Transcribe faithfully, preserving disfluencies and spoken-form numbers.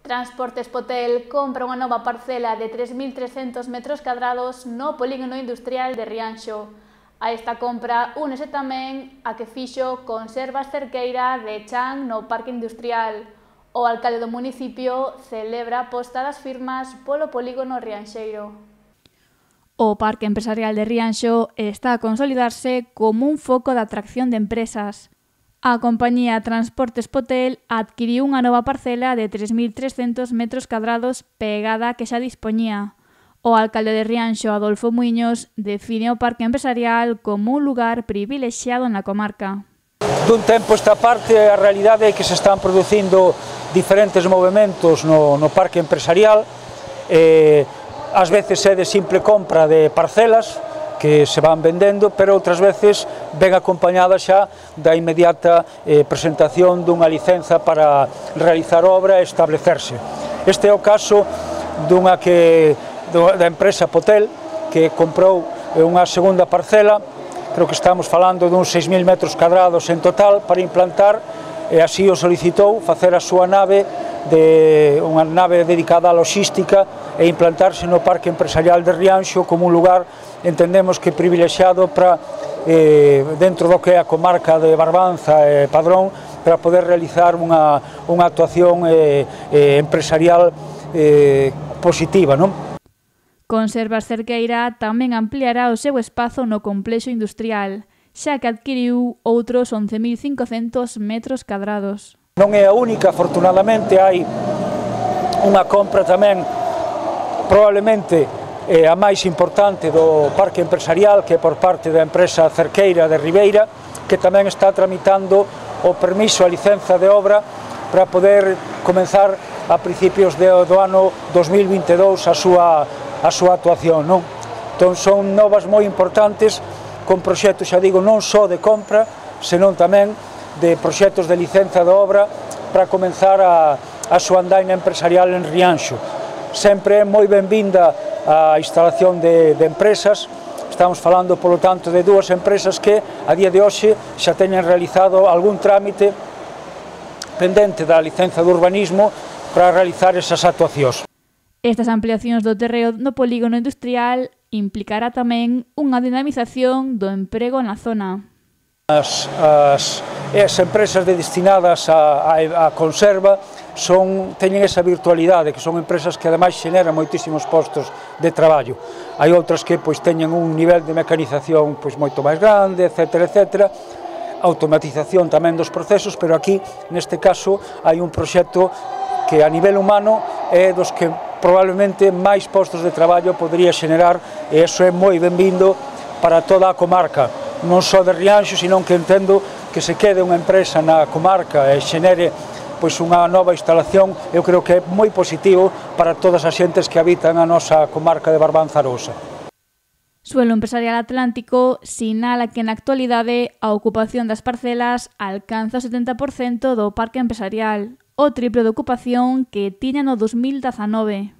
Transportes Potel compra unha nova parcela de tres mil trescentos metros cadrados no polígono industrial de Rianxo. A esta compra únese tamén a que fixo Conservas Cerqueira de Chan no Parque Industrial. O alcalde do municipio celebra a posta das firmas polo polígono rianxeiro. O Parque Empresarial de Rianxo está a consolidarse como un foco de atracción de empresas. A compañía Transportes Potel adquiriu unha nova parcela de tres mil trescentos metros cadrados pegada que xa dispoñía. O alcalde de Rianxo, Adolfo Muiños, define o parque empresarial como un lugar privilexiado na comarca. Dun tempo esta parte, a realidade é que se están producindo diferentes movimentos no, no parque empresarial. Eh, ás veces é de simple compra de parcelas que se van vendendo, pero outras veces ven acompañada xa da inmediata eh, presentación dunha licenza para realizar obra e establecerse. Este é o caso dunha que, da empresa Potel, que comprou unha segunda parcela, creo que estamos falando duns seis mil metros cadrados en total, para implantar, e así o solicitou, facer a súa nave, de unha nave dedicada á logística e implantarse no Parque Empresarial de Rianxo como un lugar, entendemos que privilexiado para, eh, dentro do que é a comarca de Barbanza e Padrón, para poder realizar unha, unha actuación eh, eh, empresarial eh, positiva, non? Conservas Cerqueira tamén ampliará o seu espazo no complexo industrial, xa que adquiriu outros once mil cincocentos metros cadrados. Non é a única, afortunadamente hai unha compra tamén probablemente eh, a máis importante do parque empresarial, que é por parte da empresa Cerqueira de Ribeira, que tamén está tramitando o permiso, a licenza de obra para poder comenzar a principios de, do ano dos mil vinte e dous a súa, a súa actuación, non? Entón son novas moi importantes con proxectos, xa digo, non só de compra, senón tamén de proxectos de licenza de obra para comenzar a, a súa andaina empresarial en Rianxo. Sempre é moi benvinda a instalación de, de empresas. Estamos falando, polo tanto, de dúas empresas que a día de hoxe xa teñen realizado algún trámite pendente da licenza de urbanismo para realizar esas actuacións. Estas ampliacións do terreo no polígono industrial implicará tamén unha dinamización do emprego na zona. As, as, as empresas de destinadas a, a, a conserva son, teñen esa virtualidade, que son empresas que ademais xeneran moitísimos postos de traballo. Hai outras que pois, teñen un nivel de mecanización pois, moito máis grande, etcétera, etcétera, automatización tamén dos procesos, pero aquí, neste caso, hai un proxecto que a nivel humano é dos que probablemente máis postos de traballo podría xenerar, e iso é moi benvindo para toda a comarca, non só de Rianxo, senón que entendo que se quede unha empresa na comarca e xenere pois, unha nova instalación, eu creo que é moi positivo para todas as xentes que habitan a nosa comarca de Barbanza Arosa. Suelo Empresarial Atlántico sinala que na actualidade a ocupación das parcelas alcanza o setenta por cento do parque empresarial, o triple de ocupación que tiña no dos mil dezanove.